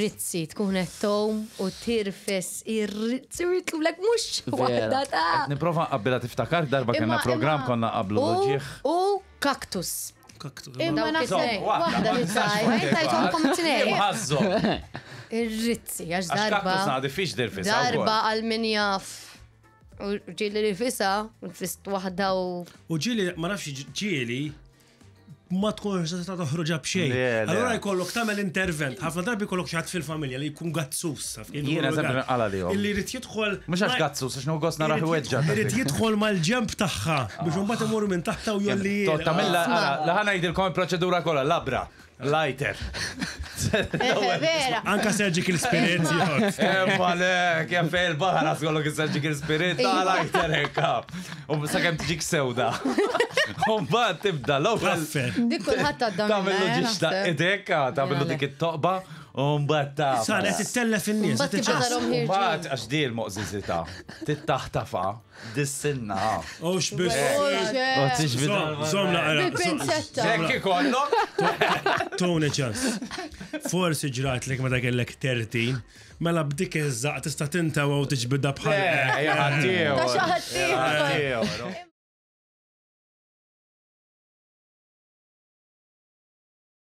Ir-rizzi tkun qed tgħum u tirfes ir-rizzi u jitlulek mhux waħda ta' Nipprova nqabbilha tiftakar darba kellna programm konna qablu l-ġieħ. U kaktus. Kaktus. Imma naħseb waħda li tajt. Tajthomkom it-tnejn. Ħażżhom. Ir-rizzi għax darba. Kaktus naqdi fiex dirfis. Darba għal min jaf. U ġieli rifisa, u tfist waħda u. U ġieli, ma nafx ġieli, ma tkunx tista' toħroġha b'xejn. Allura jkollok tagħmel intervent. Ħafna drabi jkollok xi ħadd fil-familja li jkun gazzus. Jiena eżempju nqala lihom. Illi jrid jidħol. Mhux għax gazzus, għax nieħu gost narah iweġġa'. Irid jidħol mal-ġenb tagħha biex imbagħad imur minn taħtha u jolli. Tagħmilha, la ħa ngħidilkom il-proċedura kollha, labra. Lighter. Vera. Anka surgical spirit. Emma le, kemm fej il-baħar għaskolok il-surgical spirit, ta' lighter hekka. U sakemm tiġik sewda. U mbagħad tibda l-ewwel. Dik kulħadd għadda. Tagħmillu ġiex idek, tagħmillu dik it-toqba, u mbagħad ta' Sara qed ittellef in-nies. Mbagħad għax di l-moqżiżita, tittaħtafa. Dissinna. Oh, xbis. Zom naqra. Bil-pinzetta. Jekk ikollok. Tony ċans. Forsi ġrat lek meta kellek 13, mela b'dik iż-żaq tista' tintawa u tiġbidha bħal. Eh, Ta' xi ħadd ieħor.